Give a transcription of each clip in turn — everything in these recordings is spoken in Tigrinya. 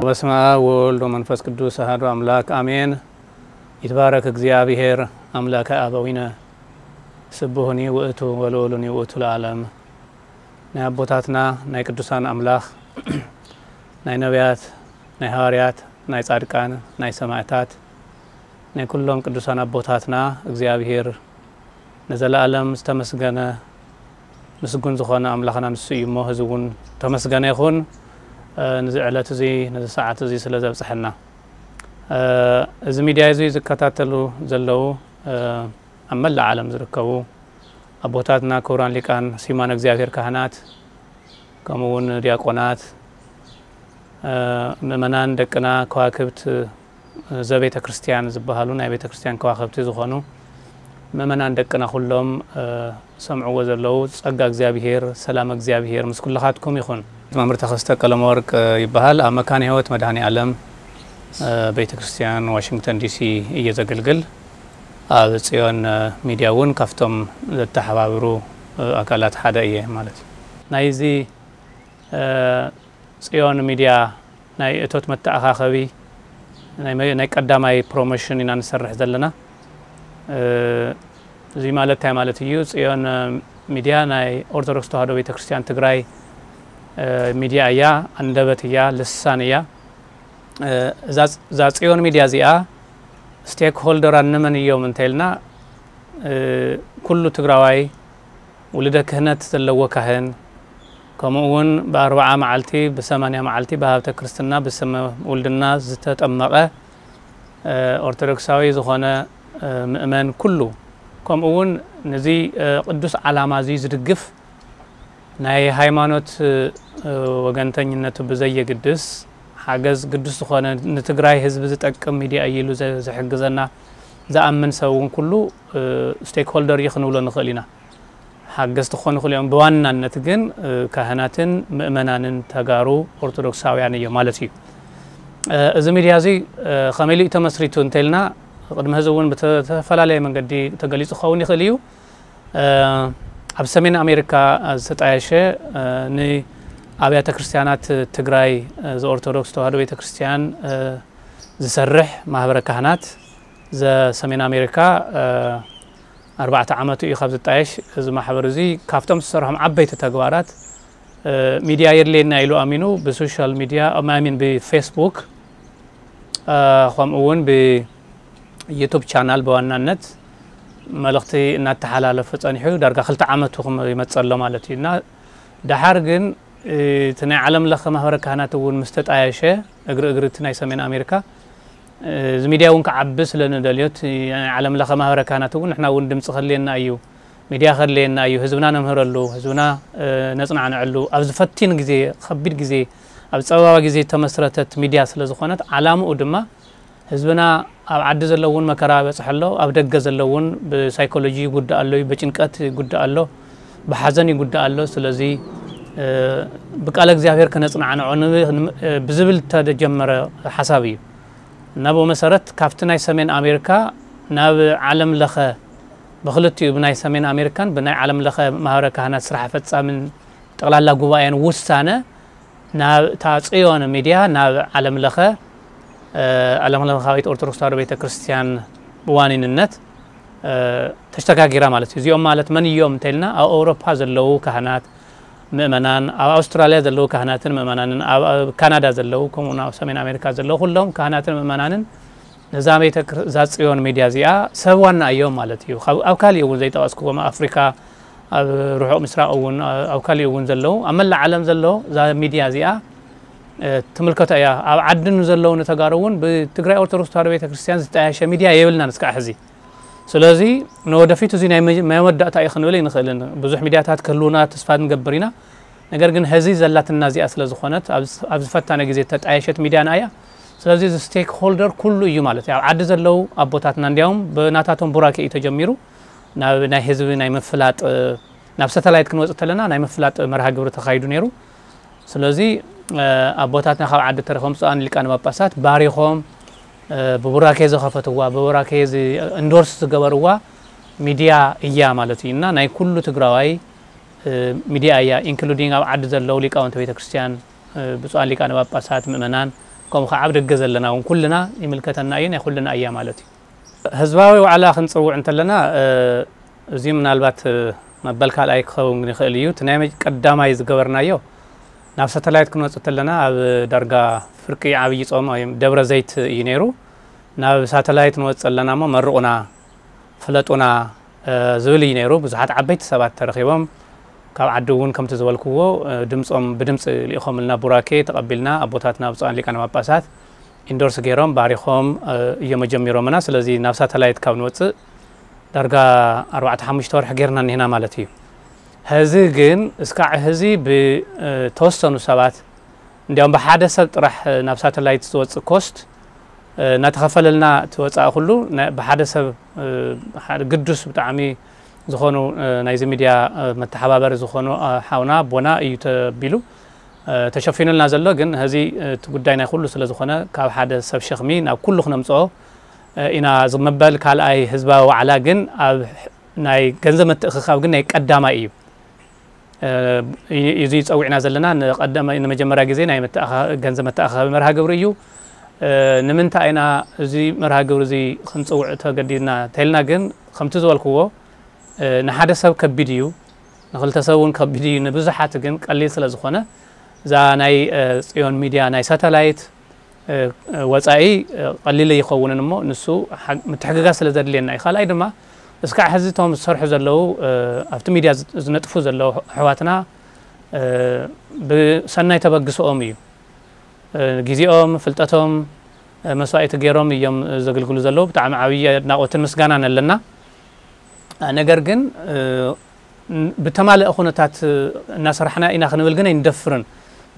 በስመ አብ ወወልድ ወመንፈስ ቅዱስ አሐዱ አምላክ አሜን። ይትባረክ እግዚአብሔር አምላከ አበዊነ ስቡህኒ ውእቱ ወልዑሉኒ ውእቱ ለዓለም። ናይ ኣቦታትና ናይ ቅዱሳን ኣምላኽ ናይ ነቢያት ናይ ሃዋርያት ናይ ጻድቃን ናይ ሰማዕታት ናይ ኩሎም ቅዱሳን ኣቦታትና እግዚኣብሔር ንዘለኣለም ዝተመስገነ ምስጉን ዝኾነ ኣምላኽና ንሱ እዩ እሞ፣ ህዚ እውን ተመስገነ ይኹን። እ፣ ንዚ ዕለት እዚ፣ ነዚ ሰዓት እዚ ስለ ዘብጽሐና። እ፣ እዚ ሚድያ እዚ ዝከታተሉ ዘለዉ፣ እ፣ ኣብ መላእ ዓለም ዝርከቡ ኣቦታትና፣ ክቡራን ሊቃን፣ ስዩማን እግዚኣብሔር ካህናት፣ ከምኡ እውን ዲያቆናት፣ እ፣ ምእመናን ደቅና፣ ከዋክብት ዘቤተ ክርስቲያን ዝበሃሉ ናይ ቤተ ክርስቲያን ከዋክብቲ ዝኾኑ ምእመናን ደቅና ኩሎም፣ እ፣ ሰምዕዎ ዘለዉ ጸጋ እግዚኣብሔር፣ ሰላም እግዚኣብሔር ምስ ኩልኻትኩም ይኹን። መምህር ተኸስተ ቀለመወርቅ ይበሃል። ኣብ መካነ ሕይወት መድኃኔ ዓለም፣ እ፣ ቤተ ክርስቲያን ዋሽንግተን ዲሲ እየ ዘገልግል። ኣብ ጽዮን፣ እ፣ ሚድያ እውን ካብቶም ዘተሓባብሩ፣ እ፣ ኣካላት ሓደ እየ ማለት እዩ። ናይዚ፣ እ፣ ጽዮን ሚድያ ናይ እቶት መተኣኻኸቢ ናይ መ-፣ ናይ ቀዳማይ ፕሮሞሽን ኢና ንሰርሕ ዘለና። እ፣ እዚ ማለት እንታይ ማለት እዩ? ጽዮን፣ እ፣ ሚድያ ናይ ኦርቶዶክስ ተዋህዶ ቤተክርስትያን ትግራይ፣ እ፣ ሚድያ እያ፣ ኣንደበት እያ፣ ልሳን እያ። እ፣ እዛ፣ እዛ ጽዮን ሚድያ እዚኣ ስቴክ ሆልደራ እንመን እዮም እንተኢልና፣ እ፣ ኩሉ ትግራዋይ ውልደ ክህነት ዘለዎ ካህን፣ ከምኡ እውን ብኣርብዓ መዓልቲ፣ ብሰማንያ መዓልቲ ብሃብተ ክርስትና፣ ብስመ ውልድና ዝተጠመቐ፣ እ፣ ኦርቶዶክሳዊ ዝኾነ፣ እ፣ ምእመን ኩሉ፣ ከምኡ እውን ነዚ፣ እ፣ ቅዱስ ዓላማ እዚ ዝድግፍ ናይ ሃይማኖት፣ እ፣ ወገንተኝነቱ ብዘየግድስ ሓገዝ ግዱስ ዝኾነ ንትግራይ ህዝቢ ዝጠቅም ሚድያ እዩ ኢሉ ዘ-፣ ዝሕግዘና ዝኣምን ሰብ እውን ኩሉ፣ እ፣ ስቴክ ሆልደር እዩ ክንብሎ ንኽእል ኢና። ሓገዝቲ ክኾኑ ይኽእሉ እዮም። ብዋናነት ግን፣ እ፣ ካህናትን ምእመናንን ተጋሩ ኦርቶዶክሳውያን እዮም ማለት እዩ። እ፣ እዚ ሚድያ እዚ፣ እ፣ ከመይ ኢሉ እዩ ተመስሪቱ እንተኢልና፣ ቅድሚ ሕዚ እውን ብተፈላለየ መንገዲ ተገሊጹ ክኸውን ይኽእል እዩ። እ፣ ኣብ ሰሜን ኣሜሪካ ዝተጣየሸ፣ እ፣ ንኣብያተ ክርስቲያናት ትግራይ፣ እ፣ ዘኦርቶዶክስ ተዋህዶ ቤተ ክርስቲያን፣ እ፣ ዝሰርሕ ማህበረ ካህናት ዘሰሜን ኣሜሪካ፣ እ፣ ኣርባዕተ ዓመቱ እዩ ካብ ዝጣየሽ። እዚ ማሕበር እዚ ካብቶም ዝሰርሖም ዓበይቲ ተግባራት፣ እ፣ ሚድያ የድልየና ኢሉ ኣሚኑ ብሶሻል ሚድያ፣ I mean ብፌስቡክ፣ እ፣ ከምኡ እውን ብዩቱብ ቻናል ብዋናነት መልእኽቲ እናተሓላለፈ ጸኒሑ ዳርጋ ክልተ ዓመቱ ክም-፣ ይመጽእ ኣሎ ማለት እዩ። እና ደሓር ግን፣ እ፣ እቲ ናይ ዓለም ለኸ ማህበረ ካህናት እውን ምስ ተጣየሸ፣ እግሪ እግሪ እቲ ናይ ሰሜን ኣሜሪካ፣ እ፣ እዚ ሚድያ እውን ክዓቢ ስለ ንደልዮ፣ እቲ ናይ ዓለም ለኸ ማህበረ ካህናት እውን ንሕና እውን ድምፂ ከድልየና እዩ፣ ሚድያ ከድልየና እዩ፣ ህዝብና ነምህረሉ፣ ህዝብና፣ እ፣ ነፅናዕንዐሉ፣ ኣብዚ ፈቲን ግዜ፣ ከቢድ ግዜ፣ ኣብ ፀበባ ግዜ ዝተመስረተት ሚድያ ስለ ዝኾነት፣ ዓላምኡ ድማ ህዝብና ኣብ ዓዲ ዘሎ እውን መከራ በፅሐ ኣሎ፣ ኣብ ደገ ዘሎ እውን ብሳይኮሎጂ ይጉዳእ ኣሎ፣ ብጭንቀት ይጉዳእ ኣሎ፣ ብሓዘን ይጉዳእ ኣሎ። ስለዚ፣ እ፣ ብቃለ እግዚኣብሔር ከነጽናዕንዖ ን-፣ ን-፣ እ፣ ብዝብል ዝተጀመረ ሓሳብ እዩ። እና ብኡ መሰረት ካብቲ ናይ ሰሜን ኣሜሪካ ናብ ዓለም ለኸ ብክልቲኡ ብናይ ሰሜን ኣሜሪካን ብናይ ዓለም ለኸ ማህበረ ካህናት ስራሕ ፈጻምን ጠቕላላ ጉባኤን ውሳነ ናብ እታ ጽዮን ሚድያ ናብ ዓለም ለኸ፣ እ፣ ዓለም ለኻዊት ኦርቶዶክስ ተዋህዶ ቤተ ክርስቲያን ብዋኒንነት፣ እ፣ ተሸጋጊራ ማለት እዩ። እዚኦም ማለት መን እዮም እንተኢልና፣ ኣብ ኣውሮፓ ዘለዉ ካህናት ምእመናን፣ ኣብ ኣውስትራልያ ዘለዉ ካህናትን ምእመናንን፣ ኣብ፣ ኣብ ካናዳ ዘለዉ፣ ከምኡ እውን ኣብ ሰሜን ኣሜሪካ ዘለዉ ኩሎም ካህናትን ምእመናንን ነዛ ቤተ ክር-፣ እዛ ጽዮን ሚድያ እዚኣ ሰብ ዋና እዮም ማለት እዩ። ካብ፣ ኣብ ካሊእ እውን ዘይጠቐስክዎም፣ ኣብ ኣፍሪካ፣ ኣብ ርሑቕ ምስራቕ እውን፣ ኣብ ካሊእ እውን ዘለዉ፣ ኣብ መላእ ዓለም ዘለዉ እዛ ሚድያ እዚኣ፣ እ፣ ትምልከቶ እያ። ኣብ ዓዲ ንዘለዉ ንተጋሩ እውን ብትግራይ ኦርቶዶክስ ተዋህዶ ቤተክርስትያን ዝተያየሸ ሚድያ የብልናን እስካዕ ሕዚ። ስለዚ ንወደፊት እዚ ናይ መ-፣ መወዳእታ እዩ ክንብል ኣይንኽእልን። ብዙሕ ሚድያታት ክህልዉና ተስፋ ንገብር ኢና። ነገር ግን ሕዚ ዘላትና እዚኣ ስለ ዝኾነት፣ ኣብ፣ ኣብ ዝፈታነ ግዜ እተጣየሸት ሚድያና እያ። ስለዚ እዚ ስቴክ ሆልደር ኩሉ እዩ ማለት እዩ። ኣብ ዓዲ ዘለዉ ኣቦታትና እንዲያውም ብናታቶም ቡራኬ እዩ ተጀሚሩ። ናብ ናይ ህዝቢ ናይ ምፍላጥ፣ ናብ ሳተላይት ክንወጽእ ተለና ናይ ምፍላጥ መርሃ ግብሪ ተኻይዱ ነይሩ። ስለዚ፣ እ፣ ኣቦታትና ካብ ዓዲ ተረፎም ብፁዓን ሊቃነ ጳጳሳት ባሪኾም፣ እ፣ ብቡራኬ ዝኸፈትዋ፣ ብቡራኬ ዝ-፣ ኢንዶርስ ዝገበርዋ ሚድያ እያ ማለት እዩ። እና ናይ ኩሉ ትግራዋይ፣ እ፣ ሚድያ እያ፣ ኢንክሉዲንግ ኣብ ዓዲ ዘለዉ ሊቃውንቲ ቤተክርስትያን፣ እ፣ ብፁዓን ሊቃነ ጳጳሳት፣ ምእመናን፣ ከምኡ ከዓ ኣብ ደገ ዘለና እውን ኩልና ይምልከተና እዩ፣ ናይ ኩልና እያ ማለት እዩ። ህዝባዊ ዋዕላ ክንፅውዕ እንተለና እዚ ምናልባት መበል ካልኣይ ክኸውን ይኽእል እዩ። እቲ ናይ ቀዳማይ ዝገበርናዮ ናብ ሳተላይት ክንወፅእ እንተለና ኣብ ዳርጋ ፍርቂ ዓብዪ ፆም ደብረ ዘይት እዩ ነይሩ። ናብ ሳተላይት ንወፅእ ኣለና እሞ መርቑና፣ ፍለጡና ዝብል እዩ ነይሩ። ብዙሓት ዓበይቲ ሰባት ተረኺቦም ካብ ዓዲ እውን ከምቲ ዝበልክዎ ድምፆም ብድምፂ ልኢኾምልና፣ ቡራኬ ተቐቢልና፣ ኣቦታትና ብፁዓን ሊቃነ ጳጳሳት ኢንዶርስ ገይሮም ባሪኾም እዮም ኣጀሚሮምና። ስለዚ ናብ ሳተላይት ካብ ንወፅእ ዳርጋ ኣርባዕተ ሓሙሽተ ወርሒ ጌርና እኒህና ማለት እዩ። ሕዚ ግን እስካዕ ሕዚ ብተወሰኑ ሰባት፣ እንዲያውም ብሓደ ሰብ ጥራሕ ናብ ሳተላይት ዝወፅእ ኮስት እናተኸፈለልና እቲ ወፃኢ ኩሉ ብሓደ ሰብ ግዱስ ብጣዕሚ ዝኾኑ ናይዚ ሚድያ መተሓባበሪ ዝኾኑ ሓውና ኣቦና እዩ ተቢሉ ተሸፊኑልና ዘሎ። ግን ሕዚ እቲ ጉዳይ ናይ ኩሉ ስለ ዝኾነ ካብ ሓደ ሰብ ሸኽሚ ናብ ኩሉ ክነምፅኦ ኢና። ዝመበል ካልኣይ ህዝባዊ ዋዕላ ግን ኣብ ናይ ገንዘብ ምትእኽኻብ ግን ናይ ቀዳማይ እዩ። እዚ ጸዊዕና ዘለና ንመጀመርያ ግዜ ናይ ገንዘብ መተኣኻኸቢ መርሃ ግብሪ እዩ። ንምንታይ ኢና እዚ መርሃ ግብሪ እዚ ክንጽውዕ ተገዲድና ተልና ግን ከምቲ ዝበልክዎ ንሓደ ሰብ ከቢድ እዩ፣ ንክልተ ሰብ እውን ከቢድ እዩ፣ ንብዙሓት ግን ቀሊል ስለ ዝኾነ እዛ ናይ ጽዮን ሚድያ ናይ ሳተላይት ወፃኢ ቀሊል ኣይኸውንን እሞ ንሱ ምትሕግጋዝ ስለ ዘድልየና እዩ። ካልኣይ ድማ እስካዕ ሕዚ እቶም ዝሰርሑ ዘለዉ ኣብቲ ሚድያ ዝነጥፉ ዘለዉ ኣሕዋትና ብሰናይ ተበግስኦም እዩ። ግዜኦም፣ ፍልጠቶም መስዋእቲ ገይሮም እዮም ዘግልግሉ ዘለዉ። ብጣዕሚ ዓብዪ ኣድናቖትን ምስጋናን ኣለና። ነገር ግን ብተማለአ ኩነታት እናሰራሕና ኢና ክንብል ግን ኣይንደፍርን።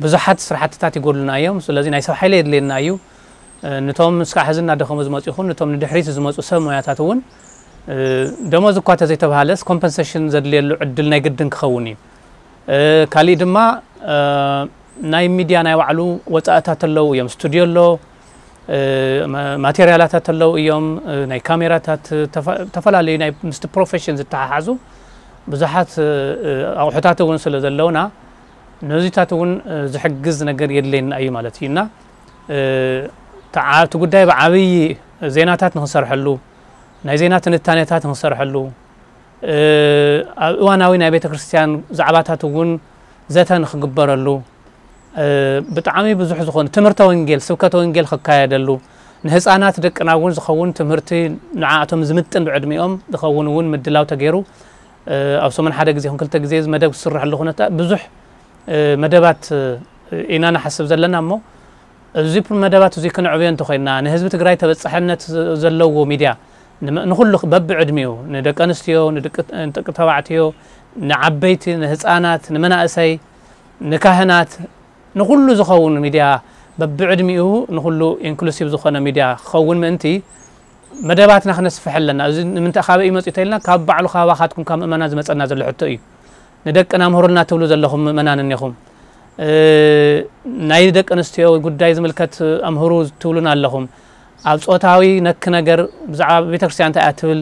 ብዙሓት ስራሕትታት ይጎድሉና እዮም። ስለዚ ናይ ሰብ ሓይሊ የድልየና እዩ። ንቶም እስካዕ ሕዚ እናደኸሙ ዝመፁ ይኹን ንቶም ንድሕሪት ዝመፁ ሰብ ሞያታት እውን ደሞዝ እኳ ተዘይተባሃለስ ኮምፐንሴሽን ዘድልየሉ ዕድል ናይ ግድን ክኸውን እዩ። ካሊእ ድማ ናይ ሚድያ ናይ ባዕሉ ወፃእታት ኣለዉ እዮም። ስቱድዮ ኣሎ፣ ማቴርያላታት ኣለዉ እዮም፣ ናይ ካሜራታት ዝተፈላለዩ ናይ ምስቲ ፕሮፌሽን ዝተሓሓዙ ብዙሓት ኣቑሑታት እውን ስለ ዘለውና ነዚታት እውን ዝሕግዝ ነገር የድልየና እዩ ማለት እዩ። እና እቲ ጉዳይ ብዓብዪ ዜናታት ንክንሰርሐሉ፣ ናይ ዜና ትንታኔታት ንክንሰርሐሉ፣ ኣብ እዋናዊ ናይ ቤተ ክርስቲያን ዛዕባታት እውን ዘተ ንክግበረሉ፣ ብጣዕሚ ብዙሕ ዝኾኑ ትምህርተ ወንጌል፣ ስብከተ ወንጌል ክካየደሉ፣ ንህፃናት ደቅና እውን ዝኸውን ትምህርቲ ንዓኣቶም ዝምጥን ብዕድሚኦም ዝኸውን እውን ምድላው ተገይሩ ኣብ ሰሙን ሓደ ግዜ ይኹን ክልተ ግዜ እዚ መደብ ክስርሐሉ ኩነታ ብዙሕ መደባት ኢና ንሓስብ ዘለና እሞ እዚ መደባት እዚ ክንዕብዮ እንተኾይንና ንህዝቢ ትግራይ ተበፃሕነት ዘለዎ ሚድያ ንኩሉ በብዕድሚኡ ንደቂ ኣንስትዮ፣ ንደቂ ተባዕትዮ፣ ንዓበይቲ፣ ንህፃናት፣ ንመናእሰይ፣ ንካህናት፣ ንኩሉ ዝኸውን ሚድያ በብዕድሚኡ ንኩሉ ኢንክሉሲቭ ዝኾነ ሚድያ ክኸውን ምእንቲ መደባትና ክነስፍሕ ኣለና። እዚ ንምንታይ ካበይ እዩ መፂኡ ተኢልና ካብ ባዕሉ ካባኻትኩም ካብ ምእመናን ዝመፀና ዘሎ ሕቶ እዩ። ንደቅና ምህሩልና ትብሉ ዘለኹም ምእመናን እኒኹም፣ ናይ ደቂ ኣንስትዮ ጉዳይ ዝምልከት ኣምህሩ ትብሉና ኣለኹም። ኣብ ፆታዊ ነክ ነገር ብዛዕባ ቤተክርስትያን እንታይ እያ ትብል፣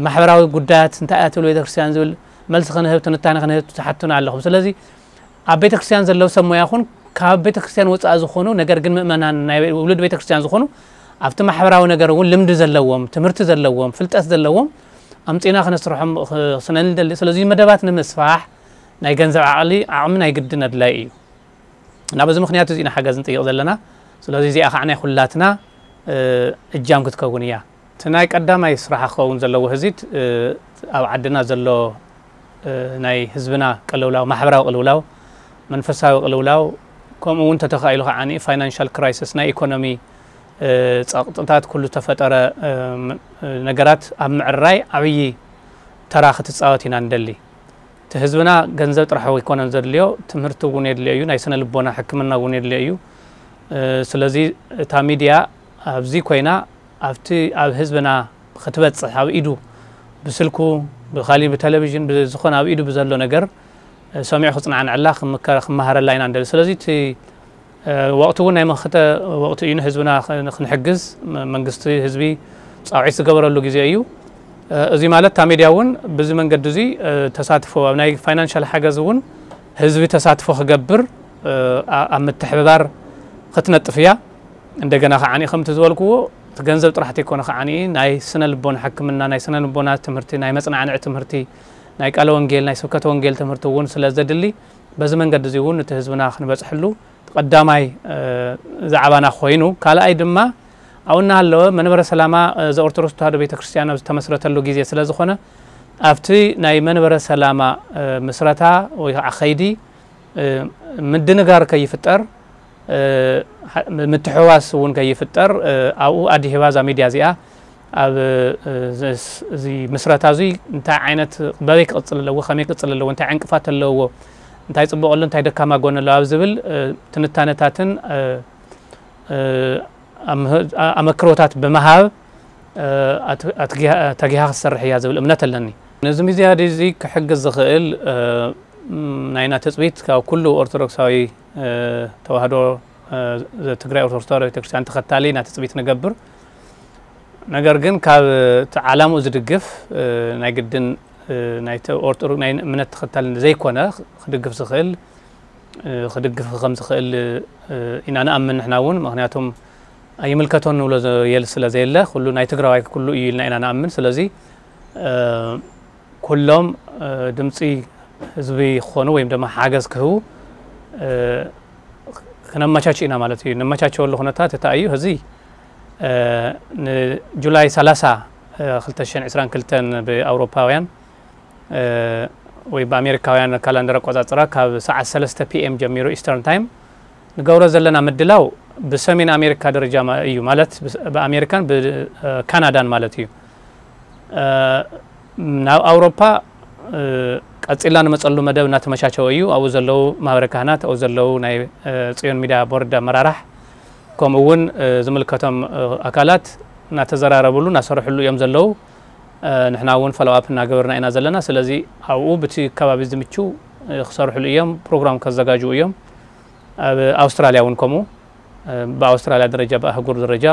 ማሕበራዊ ጉዳያት እንታይ እያ ትብል ቤተክርስትያን ዝብል መልሲ ክንህብ ትንታነ ክንህብ ትሓቱና ኣለኹም። ስለዚ ኣብ ቤተክርስትያን ዘለዉ ሰብ ሞያ ኹን ካብ ቤተክርስትያን ወፃኢ ዝኾኑ ነገር ግን ምእመናን ናይ ውሉድ ቤተክርስትያን ዝኾኑ ኣብቲ ማሕበራዊ ነገር እውን ልምዲ ዘለዎም ትምህርቲ ዘለዎም ፍልጠት ዘለዎም ኣምፂና ክነስርሖም ስነ ንደሊ። ስለዚ መደባት ንምስፋሕ ናይ ገንዘብ ዓቕሊ ዓቕሚ ናይ ግድን ኣድላይ እዩ። እና በዚ ምክንያት እዚ ኢና ሓገዝ ንጥይቕ ዘለና። ስለዚ እዚኣ ከዓ ናይ ኩላትና እጃም ክትከውን እያ። እቲ ናይ ቀዳማይ ስራሓ ክኸውን ዘለዎ ህዚት ኣብ ዓድና ዘሎ ናይ ህዝብና ቅልውላው፣ ማሕበራዊ ቅልውላው፣ መንፈሳዊ ቅልውላው፣ ከምኡ እውን ተተኻኢሉ ከዓ ፋይናንሻል ክራይሲስ ናይ ኢኮኖሚ ፀቕጥታት ኩሉ ዝተፈጠረ ነገራት ኣብ ምዕራይ ዓብዪ ተራ ክትፃወት ኢና ንደሊ። እቲ ህዝብና ገንዘብ ጥራሕ ኣይኮነን ዘድልዮ፣ ትምህርቲ እውን የድልዮ እዩ፣ ናይ ስነ ልቦና ሕክምና እውን የድልዮ እዩ። ስለዚ እታ ሚድያ ኣብዚ ኮይና ኣብቲ ኣብ ህዝብና ክትበፅሕ ኣብ ኢዱ ብስልኩ ብካሊእ ብቴሌቪዥን ብዝኾነ ኣብ ኢዱ ብዘሎ ነገር ሰሚዑ ክፅናዕንዐላ ክመሃረላ ኢና ንደሊ። ስለዚ እቲ ወቕቲ እውን ናይ መኸተ ወቕቲ እዩ። ንህዝብና ክንሕግዝ መንግስቲ ህዝቢ ፃውዒት ዝገበረሉ ግዜ እዩ። እዚ ማለት እታ ሚድያ እውን ብዚ መንገዲ እዚ ተሳትፎ ኣብ ናይ ፋይናንሻል ሓገዝ እውን ህዝቢ ተሳትፎ ክገብር ኣብ ምትሕብባር ክትነጥፍ እያ። እንደገና ከዓኒ ከምቲ ዝበልክዎ እቲ ገንዘብ ጥራሕ ተይኮነ ከዓኒ ናይ ስነ ልቦና ሕክምና፣ ናይ ስነ ልቦና ትምህርቲ፣ ናይ መጽናዕንዒ ትምህርቲ፣ ናይ ቃለ ወንጌል፣ ናይ ስብከተ ወንጌል ትምህርቲ እውን ስለ ዘድሊ በዚ መንገዲ እዚ እውን እቲ ህዝብና ክንበጽሕሉ ቀዳማይ ዛዕባና ኮይኑ፣ ካልኣይ ድማ ኣብኡ እናሃለወ መንበረ ሰላማ ዘኦርቶዶክስ ተዋህዶ ቤተክርስትያን ኣብ ዝተመስረተሉ ግዜ ስለ ዝኾነ ኣብቲ ናይ መንበረ ሰላማ ምስረታ ወይ ከዓ ኸይዲ ምድንጋር ከይፍጠር፣ ምትሕዋስ እውን ከይፍጠር ኣብኡ ኣዲሂባ እዛ ሚድያ እዚኣ ኣብ እዚ ምስረታ እዚ እንታይ ዓይነት በበይ ክቕፅል ኣለዎ፣ ከመይ ክቕፅል ኣለዎ፣ እንታይ ዕንቅፋት ኣለዎ፣ እንታይ ፅቡቕ ኣሎ፣ እንታይ ደካማ ጎኒ ኣለዎ ኣብ ዝብል ትንታነታትን ኣመክሮታት ብምሃብ ተጊሃ ክትሰርሕ እያ ዝብል እምነት ኣለኒ። ነዚ ሚድያ እዚ ክሕግዝ ዝኽእል ናይና ትፅቢት ካብ ኩሉ ኦርቶዶክሳዊ ተዋህዶ ትግራይ ኦርቶዶክስ ተዋህዶ ቤተክርስትያን ተኸታሊ ኢና ትፅቢት ንገብር። ነገር ግን ካብ እቲ ዓላምኡ ዝድግፍ ናይ ግድን ናይ እምነት ተኸታሊ ዘይኮነ ክድግፍ ዝኽእል ክድግፍ ከም ዝኽእል ኢና ንኣምን ንሕና እውን። ምክንያቱም ኣይምልከቶን ንብሎ የል ስለ ዘየለ ኩሉ ናይ ትግራዋይ ኩሉ እዩ ኢልና ኢና ንኣምን። ስለዚ ኩሎም ድምፂ ህዝቢ ክኾኑ ወይም ድማ ሓገዝ ክህቡ ክነመቻች ኢና ማለት እዩ። ነመቻቸወሉ ኩነታት እታ እዩ። እዚ ንጁላይ ሰላሳ ክልተ ሽሕን ዕስራን ክልተን ብኣውሮፓውያን ወይ ብኣሜሪካውያን ካላንደር ኣቆፃፅራ ካብ ሰዓት ሰለስተ ፒ ኤም ጀሚሩ ኢስተርን ታይም ንገብሮ ዘለና ምድላው ብሰሜን ኣሜሪካ ደረጃ እዩ ማለት ብኣሜሪካን ብካናዳን ማለት እዩ። ናብ ኣውሮፓ ቀፂልና ንመፀሉ መደብ እናተመቻቸወ እዩ። ኣብኡ ዘለዉ ማህበረ ካህናት፣ ኣብኡ ዘለዉ ናይ ፅዮን ሚድያ ቦርድ ኣመራራሕ፣ ከምኡ እውን ዝምልከቶም ኣካላት እናተዘራረብሉ እናሰርሕሉ እዮም ዘለዉ። ንሕና እውን ፎሎኣፕ እናገበርና ኢና ዘለና። ስለዚ ኣብኡ ብቲ ከባቢ ዝምችው ክሰርሕሉ እዮም፣ ፕሮግራም ከዘጋጅው እዮም። ኣብ ኣውስትራልያ እውን ከምኡ ብኣውስትራልያ ደረጃ ብኣህጉር ደረጃ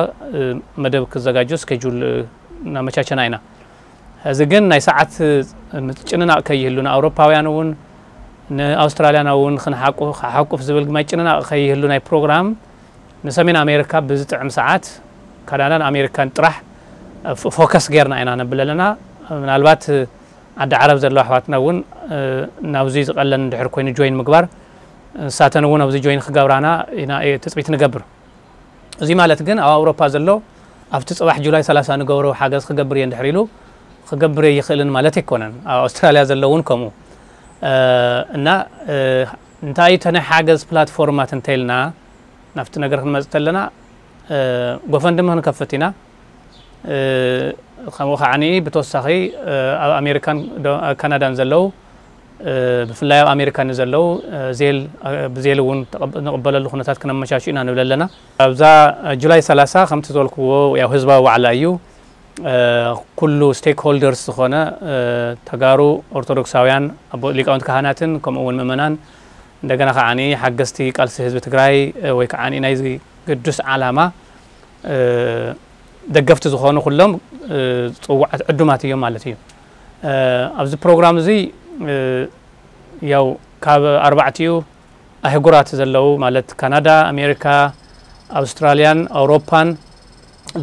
መደብ ክዘጋጆ ስኬጁል እናመቻቸና ኢና። እዚ ግን ናይ ሰዓት ምጭንናቕ ከይህሉ ንኣውሮፓውያን እውን ንኣውስትራልያን እውን ክንሓቁ ሓቁፍ ዝብል ምጭንናቕ ከይህሉ ናይ ፕሮግራም ንሰሜን ኣሜሪካ ብዝጥዕም ሰዓት ካናዳን ኣሜሪካን ጥራሕ ፎከስ ጌርና ኢና ነብል ኣለና። ምናልባት ዓዲ ዓረብ ዘለዋ ኣሕዋትና እውን ናብዚ ዝቐለን እንድሕር ኮይኑ ጆይን ምግባር ንሳተን እውን ኣብዚ ጆይን ክገብራና ኢና ትፅቢት ንገብር። እዚ ማለት ግን ኣብ ኣውሮፓ ዘሎ ኣብቲ ፅባሕ ጁላይ ሰላሳ ንገብሮ ሓገዝ ክገብር እየ እንድሕር ኢሉ ክገብር እየ ይኽእልን ማለት ኣይኮነን። ኣብ ኣውስትራልያ ዘሎ እውን ከምኡ እና እንታይ እዩ ተናይ ሓገዝ ፕላትፎርማት እንተኢልና ናብቲ ነገር ክንመፅእ ተለና ጎፈንድሚ ክንከፍት ኢና። ከምኡ ከዓኒ ብተወሳኺ ኣብ ኣሜሪካን ካናዳን ዘለዉ ብፍላይ ኣብ ኣሜሪካ ንዘለዉ ዜል ብዜል እውን ንቕበለሉ ኩነታት ክነመቻቹ ኢና ንብል ኣለና። ኣብዛ ጁላይ ሰላሳ ከምቲ ዝበልክዎ ያው ህዝባዊ ዋዕላ እዩ። ኩሉ ስቴክሆልደርስ ዝኾነ ተጋሩ ኦርቶዶክሳውያን ኣቦ ሊቃውንቲ ካህናትን ከምኡ እውን ምእመናን እንደገና ከዓኒ ሓገዝቲ ቃልሲ ህዝቢ ትግራይ ወይ ከዓኒ ናይዚ ግዱስ ዓላማ ደገፍቲ ዝኾኑ ኩሎም ፅዋዓት ዕዱማት እዮም ማለት እዩ። ኣብዚ ፕሮግራም እዚ ያው ካብ ኣርባዕቲኡ ኣህጉራት ዘለዉ ማለት ካናዳ፣ ኣሜሪካ፣ ኣውስትራልያን ኣውሮፓን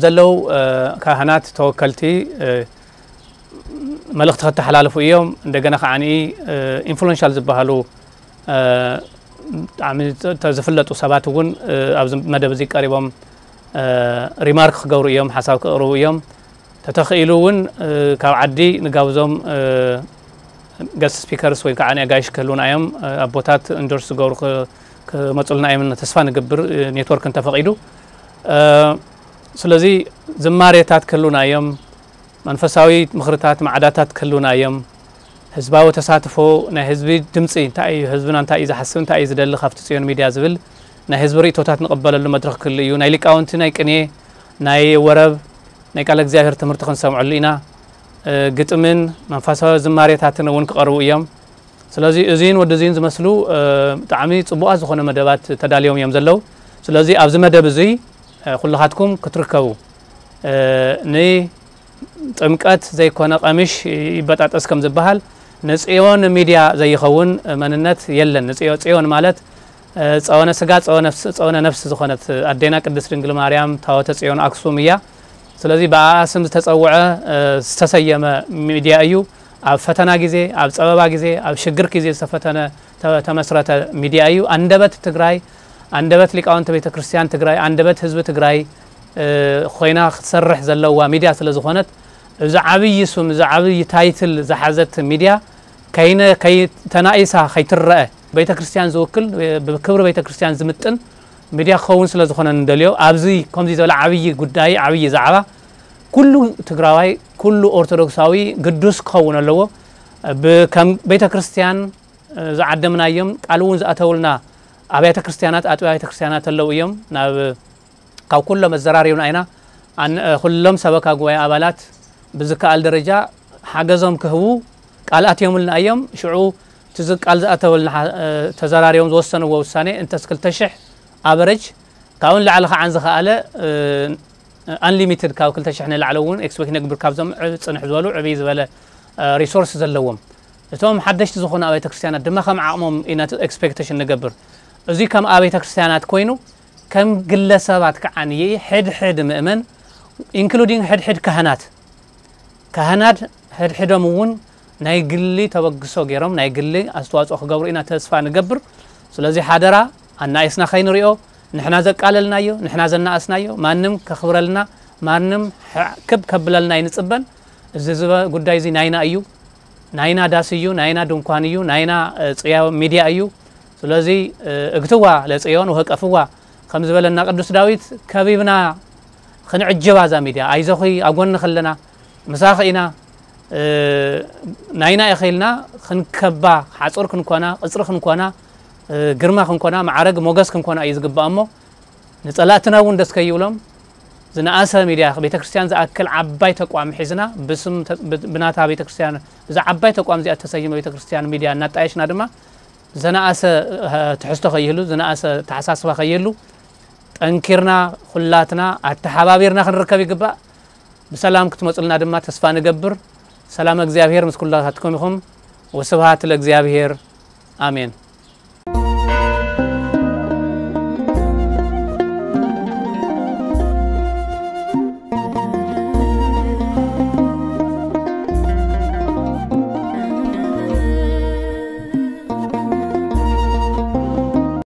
ዘለዉ ካህናት ተወከልቲ መልእኽቲ ከተሓላልፉ እዮም። እንደገና ከዓኒ ኢንፍሉዌንሻል ዝበሃሉ ብጣዕሚ ዝፍለጡ ሰባት እውን ኣብዚ መደብ እዚ ቀሪቦም ሪማርክ ክገብሩ እዮም፣ ሓሳብ ክቕርቡ እዮም። ተተኽኢሉ እውን ካብ ዓዲ ንጋብዞም ገስት ስፒከርስ ወይ ከዓ ኣጋይሽ ክህልውና እዮም። ኣቦታት ኢንዶርስ ዝገብሩ ክመፁልና እዮም ተስፋ ንገብር፣ ኔትወርክ እንተፈቒዱ። ስለዚ ዝማሬታት ክህልውና እዮም። መንፈሳዊ ምኽርታት ማዕዳታት ክህልውና እዮም። ህዝባዊ ተሳትፎ ናይ ህዝቢ ድምፂ እንታይ እዩ፣ ህዝብና እንታይ እዩ ዝሓስብ፣ እንታይ እዩ ዝደሊ ካብቲ ፅዮን ሚድያ ዝብል ናይ ህዝቢ ርእቶታት ንቕበለሉ መድረኽ ክህሉ እዩ። ናይ ሊቃውንቲ ናይ ቅኔ፣ ናይ ወረብ፣ ናይ ቃለ እግዚኣብሔር ትምህርቲ ክንሰምዐሉ ኢና። ግጥምን መንፈሳዊ ዝማሬታትን እውን ክቐርቡ እዮም። ስለዚ እዚን ወዲ እዚን ዝመስሉ ብጣዕሚ ፅቡቓት ዝኾነ መደባት ተዳልዮም እዮም ዘለዉ። ስለዚ ኣብዚ መደብ እዙይ ኩልኻትኩም ክትርከቡ ን ጥምቀት ዘይኮነ ቀምሽ ይበጣጠስ ከም ዝበሃል ንፅዮን ሚድያ ዘይኸውን መንነት የለን። ንፅዮ- ፅዮን ማለት ጸወነ ስጋ ጸወነ ነፍስ ዝኾነት ኣዴና ቅድስት ድንግል ማርያም ታወተ ጽዮን ኣክሱም እያ። ስለዚህ ብኣኣ ስም ዝተጸውዐ ዝተሰየመ ሚድያ እዩ። ኣብ ፈተና ግዜ፣ ኣብ ጸበባ ግዜ፣ ኣብ ሽግር ግዜ ዝተፈተነ ተመስረተ ሚድያ እዩ። ኣንደበት ትግራይ፣ ኣንደበት ሊቃውንቲ ቤተ ክርስቲያን ትግራይ፣ ኣንደበት ህዝቢ ትግራይ ኮይና ክትሰርሕ ዘለዋ ሚድያ ስለ ዝኾነት፣ እዚ ዓብዪ ስም፣ እዚ ዓብዪ ታይትል ዝሓዘት ሚድያ ከይነ ከይተናኢሳ ከይትረአ፣ ቤተ ክርስቲያን ዝውክል፣ ብክብሪ ቤተ ክርስቲያን ዝምጥን ሚድያ ክኸውን ስለ ዝኾነ ንደልዮ። ኣብዚ ከምዚ ዝበለ ዓብዪ ጉዳይ፣ ዓብዪ ዛዕባ ኩሉ ትግራዋይ፣ ኩሉ ኦርቶዶክሳዊ ግዱስ ክኸውን ኣለዎ። ከም ቤተ ክርስቲያን ዝዓደምናዮም፣ ቃል እውን ዝኣተውልና ኣብያተ ክርስቲያናት፣ ኣጥቢያ ቤተ ክርስቲያናት ኣለዉ እዮም። ናብ ካብ ኩሎም ኣዘራሪብና ኢና። ኩሎም ሰበካ ጉባኤ ኣባላት ብዝከኣል ደረጃ ሓገዞም ክህቡ ቃል ኣትዮምልና እዮም። ሽዑ እቲ ቃል ዝኣተወልና ተዘራሪቦም ዝወሰንዎ ውሳኔ እንተስ ክልተ ሽሕ ኣቨረጅ፣ ካብኡ ንላዕሊ ከዓ ዝኸኣለ፣ ኣንሊሚትድ፣ ካብ ክልተ ሽሕ ንላዕሊ እውን ኤክስፔክት ነግብር፣ ካብዞም ጽንሕ ዝበሉ ዕብይ ዝበለ ሪሶርስ ዘለዎም። እቶም ሓደሽቲ ዝኾኑ ኣብያተ ክርስቲያናት ድማ ከም ዓቕሞም ኢና ኤክስፔክቴሽን ንገብር። እዚ ከም ኣብያተ ክርስቲያናት ኮይኑ፣ ከም ግለሰባት ከዓ ንይ ሕድሕድ ምእመን፣ ኢንክሉዲንግ ሕድሕድ ካህናት፣ ካህናት ሕድሕዶም እውን ናይ ግሊ ተበግሶ ገይሮም ናይ ግሊ ኣስተዋፅኦ ክገብሩ ኢና ተስፋ ንገብር። ስለዚ ሓደራ፣ ኣናእስና ከይንሪኦ፣ ንሕና ዘቃለልናዮ፣ ንሕና ዘናእስናዮ፣ ማንም ከኽብረልና፣ ማንም ክብ ከብለልና ኣይንፅበን። እዚ ዝበ-፣ ጉዳይ እዚ ናይና እዩ። ናይና ዳስ እዩ፣ ናይና ድንኳን እዩ፣ ናይና ጽያ ሚድያ እዩ። ስለዚ እግትዋ ለጽዮን ወቀፍዋ ከም ዝበለና ቅዱስ ዳዊት፣ ከቢብና ክንዕጅባ እዛ ሚድያ። ኣይዞኺ፣ ኣጎንኺ ኣለና፣ ምሳኺ ኢና፣ ናይና ኢኺ ኢልና ክንከባ፣ ሓጹር ክንኮና፣ ቅጽሪ ክንኮና፣ ግርማ ክንኮና፣ ማዕረግ ሞገስ ክንኮና እዩ ዝግባእ። እሞ ንጸላእትና እውን ደስ ከይብሎም፣ ዝነኣሰ ሚድያ፣ ቤተ ክርስቲያን ዝኣክል ዓባይ ተቋም ሒዝና፣ ብስም ተ-፣ ብ-፣ ብናታ ቤተ ክርስቲያን፣ እዛ ዓባይ ተቋም እዚኣ እተሰይመ ቤተ ክርስቲያን ሚድያ እናጣየሽና ድማ፣ ዝነኣሰ፣ እ፣ ትሕዝቶ ከይህሉ፣ ዝነኣሰ ተሓሳስባ ከይህሉ፣ ጠንኪርና፣ ኩላትና ኣተሓባቢርና ክንርከብ ይግባእ። ብሰላም ክትመጹልና ድማ ተስፋ ንገብር። ሰላም እግዚኣብሔር ምስ ኩላትኩም ይኹን። ወስብሃት ለእግዚኣብሔር። ኣሜን።